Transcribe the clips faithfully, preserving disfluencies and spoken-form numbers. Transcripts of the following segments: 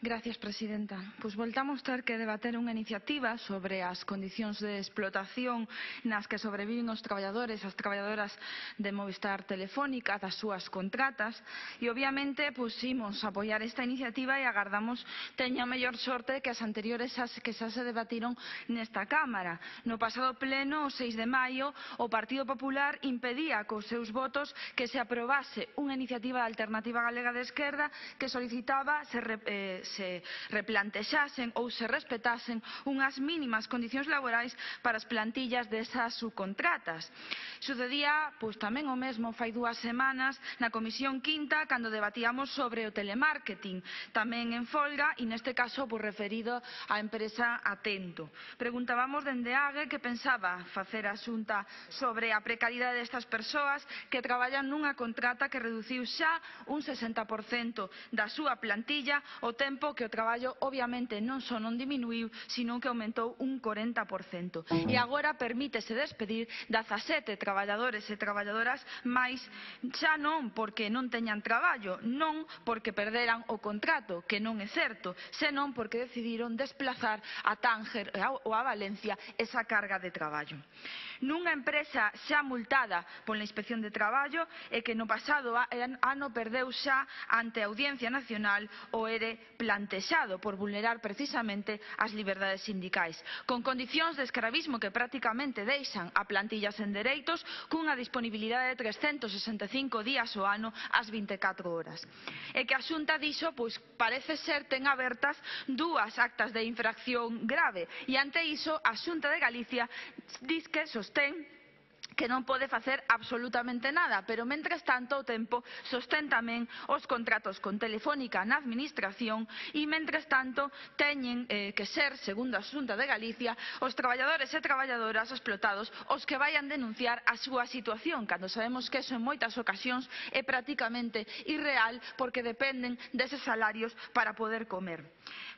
Gracias, presidenta. Pois voltamos ter que debater unha iniciativa sobre as condicións de explotación nas que sobreviven os traballadores, as traballadoras de Movistar Telefónica, das súas contratas, e obviamente pois imos apoiar esta iniciativa e agardamos teña mellor sorte que as anteriores as que xa se debatiron nesta Cámara. No pasado pleno, o seis de maio, o Partido Popular impedía cos seus votos que se aprobase unha iniciativa da Alternativa Galega de Esquerda que solicitaba se eh, se replantexasen ou se respetasen unhas mínimas condicións laborais para as plantillas desas subcontratas. Sucedía pois tamén o mesmo fai dúas semanas na Comisión Quinta cando debatíamos sobre o telemarketing, tamén en folga e neste caso pois referido á empresa Atento. Preguntábamos dende AGE que pensaba facer a Xunta sobre a precariedade destas persoas que traballan nunha contrata que reduciu xa un sesenta por cento da súa plantilla o tempo que o traballo obviamente non só non diminuiu, sino que aumentou un corenta por cento. E agora permítese despedir dezasete traballadores e traballadoras máis, xa non porque non teñan traballo, non porque perderan o contrato, que non é certo, senón porque decidiron desplazar a Tánger ou a Valencia esa carga de traballo. Nunha empresa xa multada pola Inspección de Traballo e que no pasado ano perdeu xa ante a Audiencia Nacional o ERE plantexado por vulnerar precisamente as liberdades sindicais, con condicións de escravismo que prácticamente deixan a plantilla sen dereitos cunha disponibilidade de trescentos sesenta e cinco días ao ano ás vinte e catro horas. E que a Xunta dixo, pois parece ser ten abertas dúas actas de infracción grave e ante iso a Xunta de Galicia diz que sostén que non pode facer absolutamente nada, pero mentres tanto o tempo sostén tamén os contratos con Telefónica na administración e mentres tanto teñen eh, que ser, segundo a Xunta de Galicia, os traballadores e traballadoras explotados os que vayan denunciar a súa situación, cando sabemos que eso en moitas ocasións é prácticamente irreal porque dependen deses salarios para poder comer.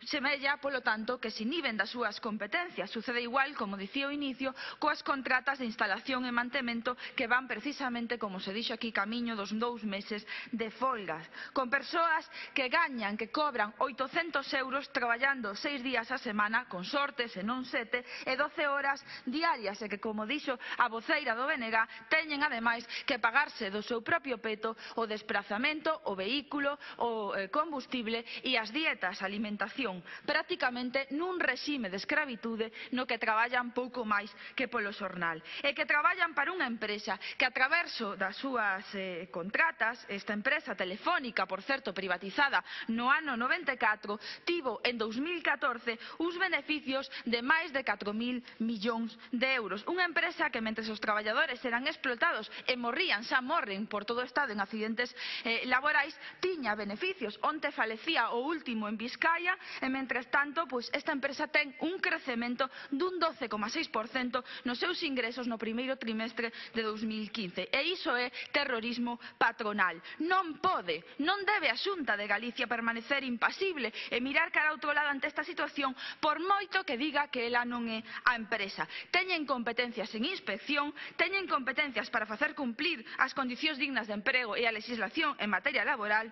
Semella, polo tanto, que se inhiben das súas competencias. Sucede igual, como dicía ao inicio, coas contratas de instalación e mantemento que van precisamente, como se dixo aquí, camiño dos dous meses de folgas, con persoas que gañan, que cobran oitocentos euros traballando seis días a semana, con sorte, se non sete, e doce horas diarias, e que, como dixo a voceira do B N G, teñen ademais que pagarse do seu propio peto o desprazamento, o vehículo, o combustible e as dietas, a alimentación, prácticamente nun réxime de escravitude no que traballan pouco máis que polo xornal, e que traballan para unha empresa que a traverso das súas eh, contratas, esta empresa Telefónica, por certo, privatizada no ano noventa e catro, tivo en dous mil catorce uns beneficios de máis de catro mil millóns de euros. Unha empresa que, mentres os traballadores eran explotados e morrían, xa morren por todo o estado en accidentes eh, laborais, tiña beneficios. Onte falecía o último en Vizcaya e, mentres tanto, pois, esta empresa ten un crecemento dun doce coma seis por cento nos seus ingresos no primeiro trimestre de dous mil quince. E iso é terrorismo patronal. Non pode, non debe a Xunta de Galicia permanecer impasible e mirar cara a outro lado ante esta situación por moito que diga que ela non é a empresa. Teñen competencias en inspección, teñen competencias para facer cumplir as condicións dignas de emprego e a legislación en materia laboral,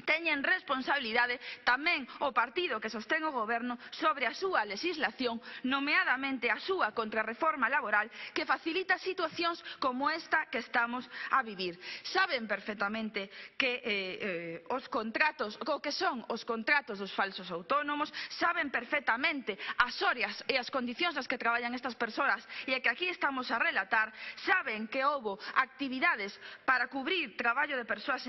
teñen responsabilidade tamén o partido que sostén o goberno sobre a súa legislación, nomeadamente a súa contrarreforma laboral que facilita situacións como esta que estamos a vivir. Saben perfectamente que eh, eh, os contratos, o que son os contratos dos falsos autónomos, saben perfectamente as horas e as condicións nas que traballan estas persoas e que aquí estamos a relatar, saben que houbo actividades para cubrir traballo de persoas